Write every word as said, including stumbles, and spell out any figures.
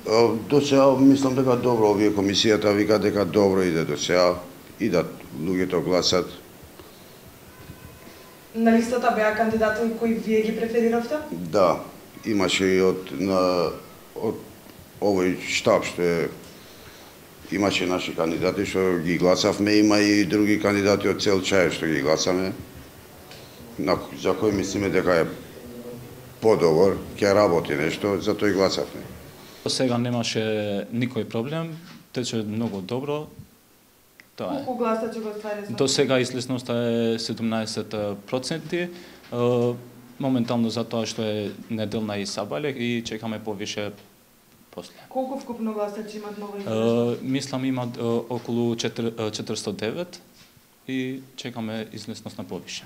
До сега мислам дека добро, овие комисијата вика дека добро иде до сега, идат луѓето гласат. На листата беа кандидати кои вие ги префериравте? Да, имаше и од на од овој штаб што е, имаше наши кандидати што ги гласавме, има и други кандидати од цел Чаев што ги гласаме, на, за кои мислиме дека е подобар, ќе работи нешто, затоа и гласавме. До сега немаше никој проблем, тече многу добро. Тоа е. Колку гласачи го ствариле? До сега излезноста е седумнаесет проценти. Моментално затоа што е неделна и сабале и чекаме повише после. Колку вкупно гласачи имат ново излезност? Мислам имат околу четиристотини и девет и чекаме излезност на повише.